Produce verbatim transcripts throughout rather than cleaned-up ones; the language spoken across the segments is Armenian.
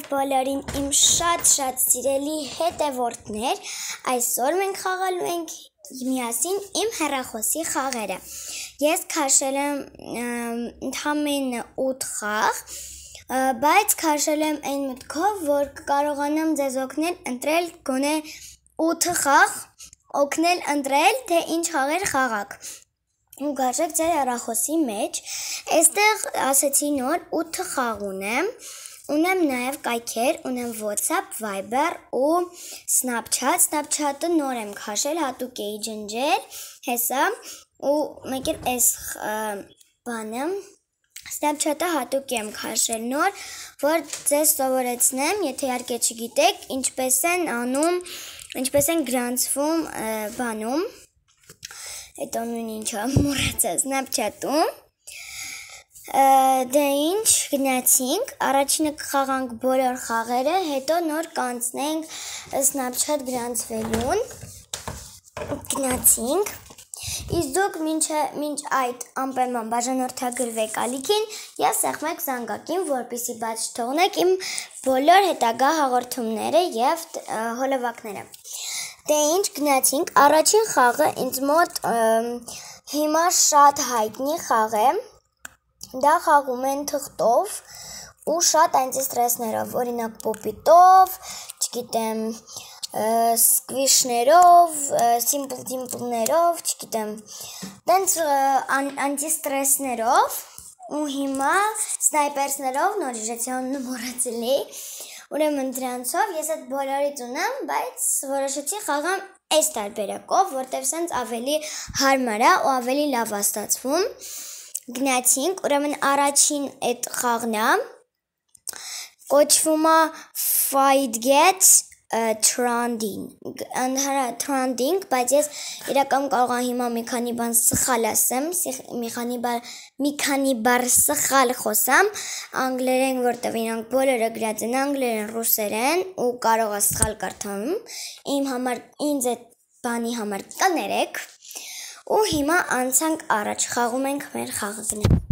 բոլորին իմ շատ-շատ սիրելի հետևորդներ, այսօր մենք խաղալու ենք միասին իմ հեռախոսի խաղերը։ Ես քաշել եմ ընդամենը ութ խաղ, բայց քաշել եմ այն մտքով, որ կարողանամ ձեզ օգնել ընտրել գոնե ութ խաղ, օգնել ընտրել, թե ինչ խաղեր խաղաք։ Ու գարժեք ձեր հեռախոսի մեջ, այստեղ ասեցի նոր ութ խաղ ունեմ, ունեմ նաև կայքեր, ունեմ WhatsApp, Viber ու Snapchat, Snapchat-ը նոր եմ քաշել, հատուկ էի ջնջել, հեսա, ու մեկ էլ այս բանը, Snapchat-ը հատուկ եմ քաշել նոր, որ ձեզ սովորեցնեմ, եթե իհարկե չգիտեք, ինչպես են անում, ինչպես են գրանցվում բանում, հետո նույն ինչա մոռացա Snapchat-ում, դե ինչ գնացինք, առաջինը կխաղանք բոլոր խաղերը, հետո նոր կանցնենք Snapchat գրանցվելուն, գնացինք, իսկ դուք մինչ այդ անպայման բաժանորդագրվեք ալիքին և սեղմեք զանգակին, որպեսզի բաց չթողնեք իմ բոլոր հետագա հաղորդումները և հոլովակները։ Դե ինչ գնացինք, առաջին խաղը ինձ մոտ հիմա շատ հայտնի խաղ է, դա խաղում են թղթով ու շատ անտիստրեսներով, օրինակ պոպիտով, չգիտեմ, սկվիշներով, սիմպլ-դիմպլներով, չգիտեմ, տենց անտիստրեսներով ու հիմա սնայպերսներով, նոր իժեցյանը մոռացել էի, ուրեմն դրանցով ես այդ բոլորից ունեմ, բայց որոշեցի խաղամ այս տարբերակով, որտև սենց ավելի հարմար է ու ավելի լավ է ստացվում։ Գնացինք, ուրեմն առաջին այդ խաղն է, կոչվում է Fight Get Trending, Trending, բայց ես իրականում կարող եմ հիմա մի քանի բան սխալ ասեմ, մի քանի բառ սխալ խոսամ, անգլերեն, որտև իրանք բոլորը գրած են անգլերեն, ռուսերեն ու կարող է սխալ կարդամ, իմ համար, ինձ այդ բանի համար կներեք ու հիմա անցանք առաջ, խաղում ենք մեր խաղը գնանք։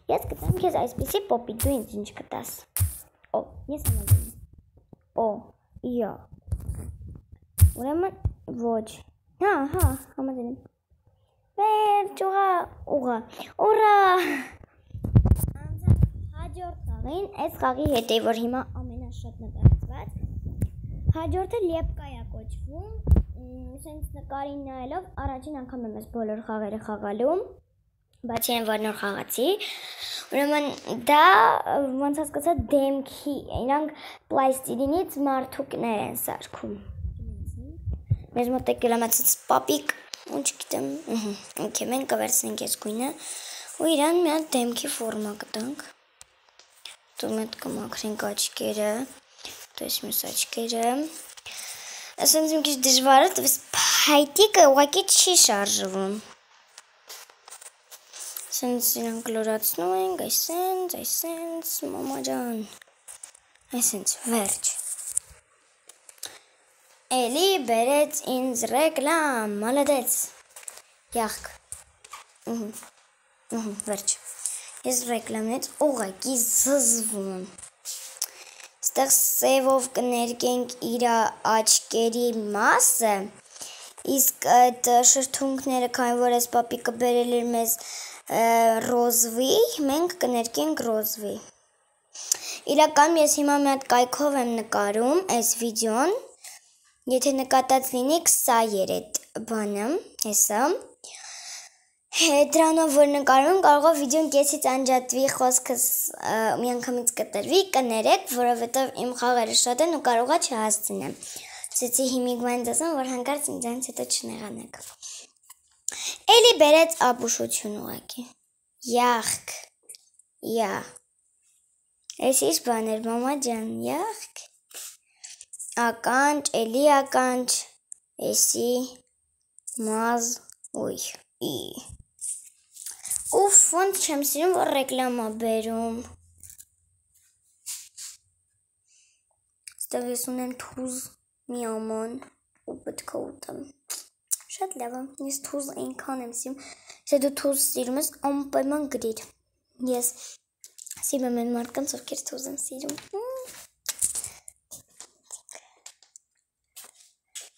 Ես կտամ քեզ այսպիսի պոպիտ, դու ինձ ինչ կտաս։ Օ, ես համաձայն եմ։ Օ, յա։ Ուրեմն ոչ։ Հա, հա, համաձայն եմ։ Վերջ, ուղա, ուղա, ուրա։ Անցանք հաջորդ խաղին, այս խաղի հետ է, որ հիմա ամենաշատ նկարված։ Հաջորդը լեպկա է կոչվում, սենց նկարին նայելով առաջին անգամ եմ ես բոլոր խաղերը խաղալու, բացի այն որ նոր խաղացի, ուրեմն դա ոնց հասկացա դեմքի, իրանք պլաստիլինից մարդուկներ են սարքում։ Մեզ մոտ եկել եմ այցից պապիկ, ու չգիտեմ, ինքը մենք կվերցնենք ես գույնը, ու իրան մի հատ դեմքի ֆորմա կտանք, դու մետ կմաքրենք աչկերը, դու ես մյուս աչկերը, ասենց իմ քիչ դժվար է, տվես փայտիկը ուղղակի չի շարժվում։ Սենց իրանք լորացնում ենք, այսենց, այսենց, մամա ջան, այսենց, վերջ։ Էլի բերեց ինձ ռեկլամ, մալադեց, յաղք, վերջ, ես ռեկլամնից ուղղակի զզվում, ստեղ սևով կներկենք իրա աչկերի մասը, իսկ այդ շրթունքները, քանի որ ես պապիկը բերել էր մեզ ռոզվի, մենք կներկենք ռոզվի։ Իրականում ես հիմա մի հատ կայքով եմ նկարում այս վիդեոն, եթե նկատած լինիք, սա էր այդ բանը, հեսա, դրանով որ նկարում կարող է վիդեոն կեսից անջատվի, խոսքս մի անգամից կտրվի, կներեք, որովհետև իմ խաղերը շատ են ու կարող է չհասցնեմ։ Սեցի հիմիկ բանից ասեմ, որ հանկարծ ինձանից հետո չնեղանեք։ Էլի բերեց ապուշություն ուղակի, յաղք, յա, ես ինչ բաներ, մամա ջան, յաղք, ականջ, էլի ականջ, էսի, մազ, ոյ, ի, ուվ, ոնց չեմ սիրում, որ ռեկլամա բերում, ստեղ ես ունեմ թուզ մի աման, ու պետք է ուտեմ, Շատ լավ է, ես թուզ այնքան եմ սիրում, եթե դու թուզ սիրում ես, անպայման գրիր, ես սիրում եմ մարդկանց, ովքեր թուզ են սիրում,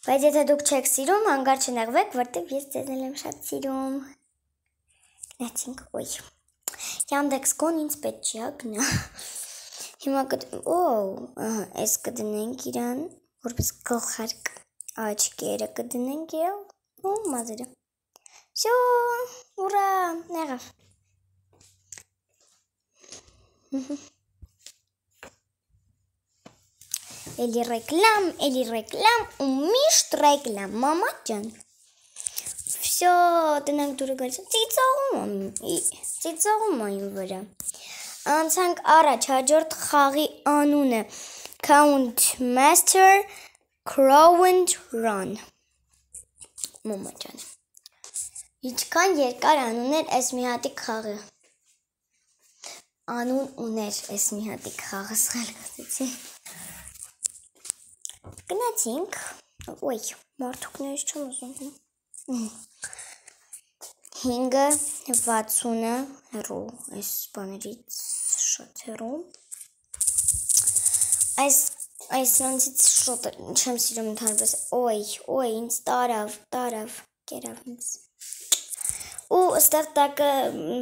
բայց եթե դուք չեք սիրում, հանգար չնեղվեք, որտև ես ձեզ եմ շատ սիրում, գնացինք, ոյ, Yandex Go-ն ինձ պետք չի, գնա, հիմա կդնենք, օ, այս կդնենք իրան, որպես գլխարկ, աչկերը կդնենք և, ու մազերը, շո, ուրա, նեղավ, էլի ռեկլամ, էլի ռեկլամ, ու միշտ ռեկլամ, մամա ջան, վսյո, տնանք դուրը գալիս, ծիծողում ծիծողում այն վրա, անցանք առաջ, հաջորդ խաղի անունը, Count Master Crow and Run, մամա ջան, իչքան երկար անուն էր այս մի հատիկ խաղը, անուն ուներ այս մի հատիկ խաղը սխալ գծեցի, գնացինք, ոյ, մարդուկներից չեմ ուզում, հինգը, վաթսունը, հեռու, այս բաներից շատ հեռու, այս նոնցից շատ չեմ սիրում ընդհանրապես, ոյ, ոյ, ինձ տարավ, տարավ, կերավ ինձ, ու ստեղ տակը,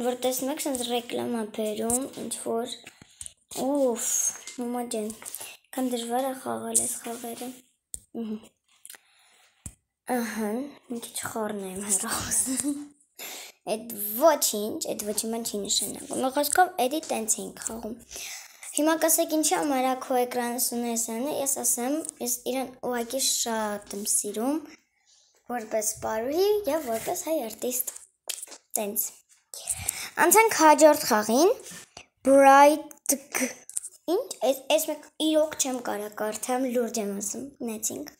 որ տեսնում եք, սենց ռեկլամա բերում, ինչ-որ, ուֆ, մամա ջան, կան դժվար է խաղալ այս խաղերը, ահա, մի քիչ խառն եմ հեռախոսը, այդ ոչինչ, այդ ոչինչ ման չի նշանակում, մի խոսքով էդի տենց էինք խաղում, հիմա կասեք ինչի համար քո էկրանս ունես անը, ես ասեմ, ես իրան ուղղակի շատ եմ սիրում, որպես պարուհի և որպես հայ արտիստ, տենց, անցանք հաջորդ խաղին, Bright Ինչ, այս մեկ իրոք չեմ կարա կարդամ, լուրջ եմ ասում, նեցինք,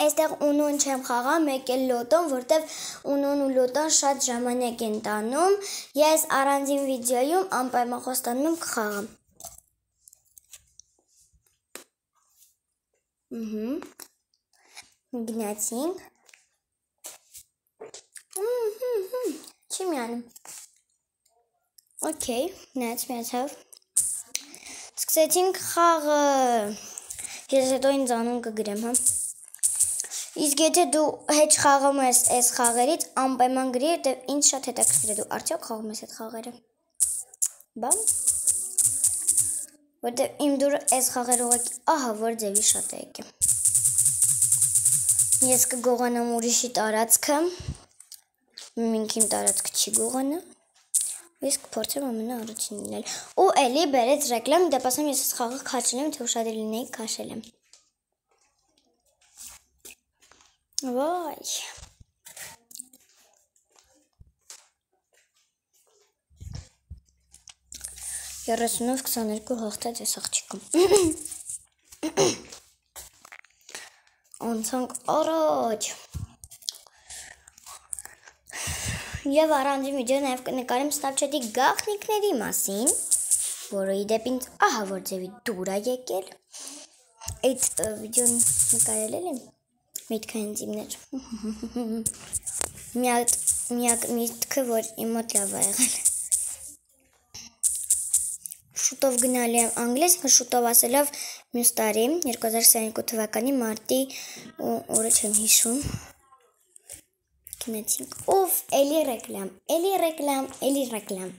այստեղ ունուն չեմ խաղա, մեկ էլ լոտոն, որտև ունուն ու լոտոն շատ ժամանակ են տանում, ես առանձին վիդեոյում անպայման խոստանում եմ կխաղամ, գնացինք, չի միանում, օքեյ, նայց միացավ, սկսեցինք խաղը, ես հետո ինձ անուն կգրեմ, հա, իսկ եթե դու հետ խաղում ես այս խաղերից, անպայման գրի, որտև ինձ շատ հետաքրքիր է, դու արդյոք խաղում ես այդ խաղերը, բան, որտև իմ դուրը այս խաղեր ուղղակի, ահա, որ ձևի շատ է եկեմ, ես կգողանամ ուրիշի տարածքը, մինք իմ տարածքը չի գողանա, ես կփորձեմ ամենը առաջին լինել, ու էլի բերեց ռեկլամ, դեպասեմ ես այս խաղը քաշել եմ, թե ուշադիր լինեի քաշել եմ, վայ, երեսունով քսաներկու հաղթեց ես աղջիկում, անցանք առաջ, և առանձին վիդեո նաև կնկարեմ Snapchat-ի գաղտնիքների մասին, որը իդեպ ինձ ահա որ ձևի դուր է եկել, այդ վիդեոն նկարել եմ, միտքը հենց իմներ, միակ միտքը, որ իմ մոտ լավ է եղել, շուտով գնալի եմ անգլիս, շուտով ասելով մյուս տարի, երկու հազար քսաներկու թվականի մարտի օրը չեմ հիշում, գնացինք, ուվ, էլի ռեկլամ, էլի ռեկլամ, էլի ռեկլամ,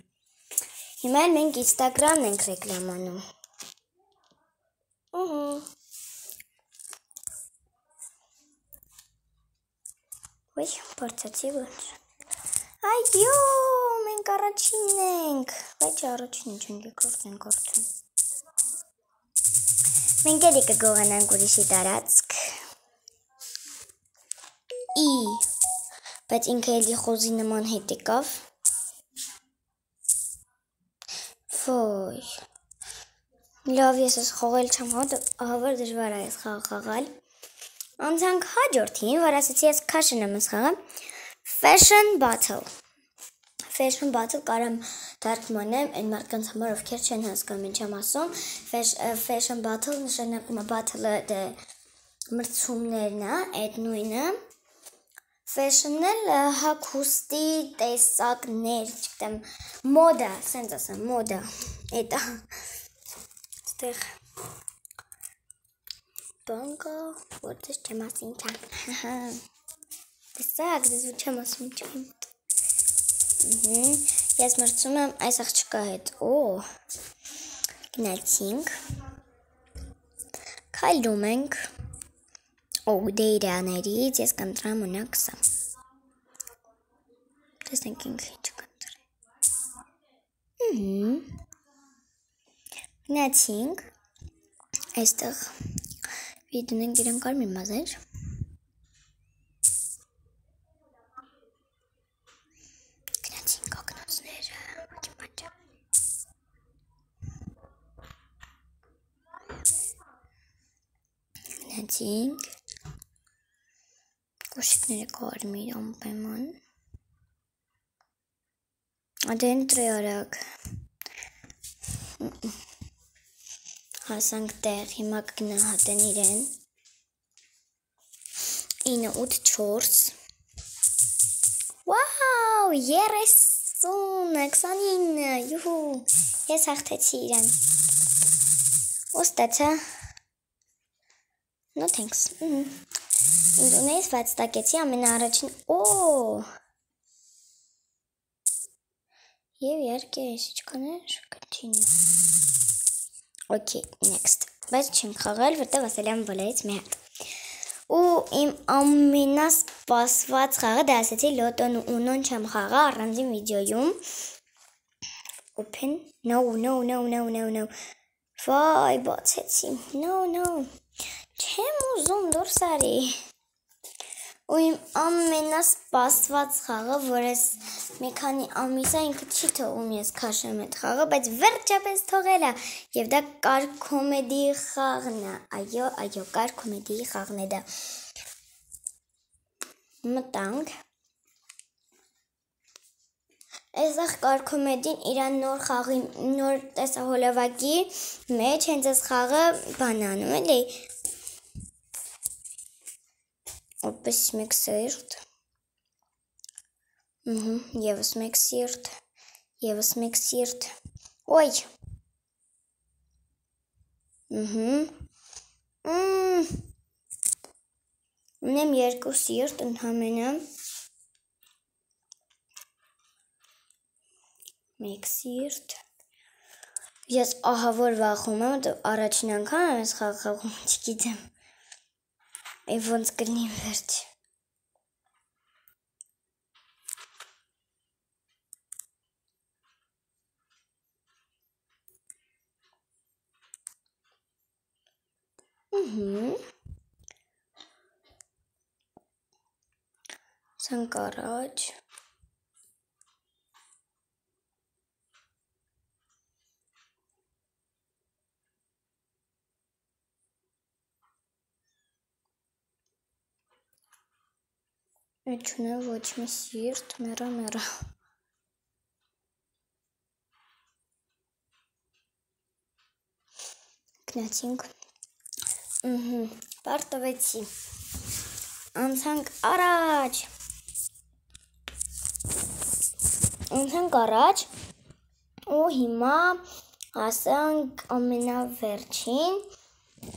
հիմա էլ մենք Instagram-ն ենք ռեկլամանում, ոյ, պարծացի ոչ, այյո, մենք առաջինն ենք, բայց առաջին ինչ ենք եկորդ ենք արդյուն, մենք էլի կգողանանք ուրիշի տարածք, ի, բայց ինքը էլի խոզի նման հետ եկավ, ոյ, լավ ես ես խողել չեմ հոտ, ահավար դժվար է ես խաղ խաղալ, անցանք հաջորդին, որ ասեցի ես քաշն եմ ես խաղը, Fashion Battle, Fashion Battle կարամ թարգմանեմ, այն մարդկանց համար ովքեր չեն հասկանում ինչ եմ ասում, Fashion Battle նշանակում է battle-ը մրցումներն է, այդ նույնը, Fashion-ել հագուստի տեսակներ, չգիտեմ, մոդա, սենց ասեմ, մոդա, էտա, ստեղ բան կա, որ դες չեմ ասին չան, տեսակ, դες որ չեմ ասում չան, ես մրցում եմ այս աղջկա հետ, օ, գնացինք, քայլում ենք, օ, դե իրաներից ես կընտրամ ունակ սա, տեսնենք ինքը ինչ կընտրի, գնացինք, այստեղ վիդուն ենք իրան կարմիր մազեր, գնացինք ակնոցները, ոքի բանջա, գնացինք, կոշիկները կարմիր ամպեման, ադե ընտրի արագ, հասանք տեղ, հիմա կգնահատեն իրեն, ինը ութ չորս, վաու, երեսուն, քսանինը, յուհու, ես հաղթեցի իրեն, ոստացա, no thanks, ինձունեից վաց տակեցի ամեն առաջին, օ, և երկե ես իչկաներ, continue, okay, next, բայց չեմ խաղալ, որտև ասել եմ բոլորից մի հատ, ու իմ ամենասպասված խաղը դա ասեցի լոտոն ու ունոն չեմ խաղա առանձին վիդեոյում, open, no, no, no, no, no, no, վայ, բացեցի, no, no, չեմ ուզում դուրս արի, ու իմ ամենասպասված խաղը, որ ես մի քանի ամիսա ինքը չի թողում ես քաշեմ այդ խաղը, բայց վերջապես թողել է, և դա կար կոմեդի խաղն է, այո, այո, կար կոմեդի խաղն է դա, մտանք, այսեղ կար կոմեդին իրան նոր խաղի, նոր տեսահոլովակի մեջ հենց այս խաղը բանանում էլի, Պես մեկ սիրտ, եվս մեկ սիրտ, եվս մեկ սիրտ, ոյ, ունեմ երկու սիրտ ընդհամենը, մեկ սիրտ, ես ահավոր վախում եմ, առաջին անգամ եմ ես խաղում, չգիտեմ, Եվ ոնց կրնի վերջ։ Սանք առաջ։ Այդ չունեմ ոչ մի սիրտ, մերա մերա։ Գնացինք։ Պարտվեցի։ Անցանք առաջ։ Անցանք առաջ։ Ու հիմա հասանք ամենավերջին։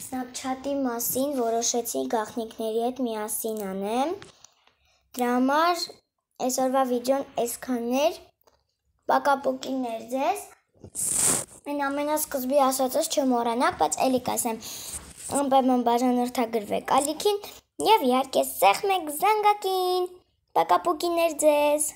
Snapchat-ի մասին որոշեցի գաղտնիքների հետ միասին անեմ։ Դրա համար այսօրվա վիդեոն այսքանն էր, պակապուկիներ ձեզ, այն ամենասկզբի ասածս չմոռանաք, բայց էլի կասեմ, անպայման բաժանորդագրվեք ալիքին և իհարկե սեղմեք զանգակին, պակապուկիներ ձեզ։